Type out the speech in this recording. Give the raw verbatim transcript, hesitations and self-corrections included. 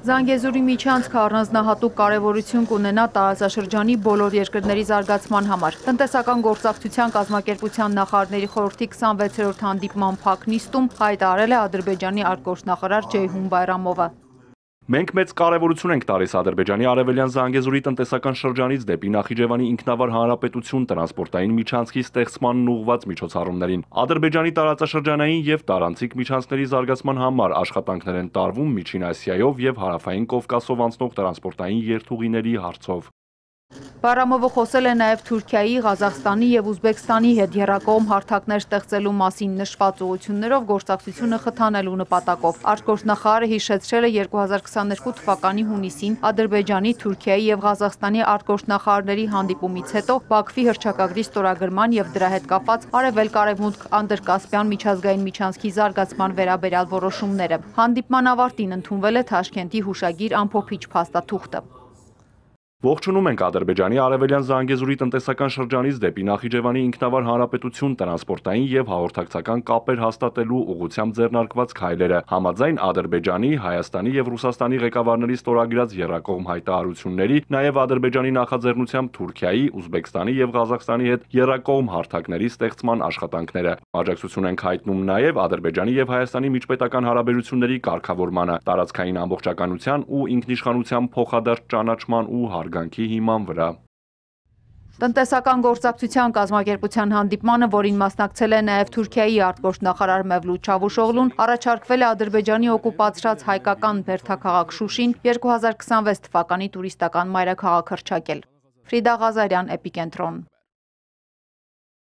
Զանգեզուրի միջանցքը առանձնահատուկ կարևորություն կունենա տարածաշրջանի բոլոր երկրների զարգացման համար։ Տնտեսական գործակցության կազմակերպության նախարարների խորհրդի քսանվեցերորդ հանդիպման փակ նիստում հայտարարել է Ադրբեջանի արտգործնախարար Ջեյհուն Բայրամովը։ Մենք մեծ կարևորություն ենք տալիս Ադրբեջանի արևելյան Զանգեզուրի տնտեսական շրջանից դեպի Նախիջևանի ինքնավար հանրապետություն տրանսպորտային միջանցքի ստեղծմանն ուղղված միջոցառումներին։ Ադրբեջանի տարածաշրջանային եւ տարանցիկ միջանցքների զարգացման համար աշխատանքներ են տարվում Միջին Ասիայով եւ Հարավային Կովկասով անցնող տրանսպորտային երթուղիների հարցով։ Բայրամովը խոսել է նաև Թուրքիայի, Ղազախստանի եւ Ուզբեկստանի հետ եռակողմ հարթակներ ստեղծելու մասին նշված ուղղություններով գործակցությունը խթանելու նպատակով։ Արտգործնախարարը հիշեցրել է երկու հազար քսաներկու թվականի հունիսին Ադրբեջանի, Թուրքիայի եւ Ղազախստանի արտգործնախարարների հանդիպումից հետո Բաքվի հռչակագրի ստորագրման եւ դրա հետ կապված Արևելք-Արևմուտք Անդրկասպյան միջազգային միջանցքի զարգացման վերաբերյալ որոշումները։ Հանդիպման ավարտին ընդունվել է Թաշքենտի հուշագիր ամփոփիչ փաստաթուղթը։ Ողջունում ենք Ադրբեջանի արևելյան Զանգեզուրի տնտեսական շրջանից դեպի Նախիջևանի ինքնավար հանրապետություն տրանսպորտային եւ հաղորդակցական կապեր հաստատելու ուղղությամբ ձեռնարկված քայլերը։ Համաձայն Ադրբեջանի, Հայաստանի եւ Ռուսաստանի ղեկավարների ստորագրած եռակողմ հայտարարությունների, նաեւ Ադրբեջանի նախաձեռնությամբ Թուրքիայի, Ուզբեկստանի եւ Ղազախստանի հետ եռակողմ հարթակների ստեղծման աշխատանքները։ Աջակցություն ենք հայտնում նաեւ Ադրբեջանի եւ Հայաստանի միջպետական հարաբերությունների կարգավորմանը, տարածքային ամբողջականության ու ինքնիշխանության փոխադարձ ճանաչման ու հարգանքի հիման վրա։ Տնտեսական գործակցության կազմակերպության հանդիպմանը, որին մասնակցել է նաև Թուրքիայի արտգործնախարար Մևլութ Չավուշօղլուն, առաջարկվել է Ադրբեջանի օկուպացրած հայկական բերդաքաղաք Շուշին երկու հազար քսանվեց թվականի տուրիստական մայրաքաղաք հռչակել։ Ֆրիդա Ղազարյան, Էպիկենտրոն։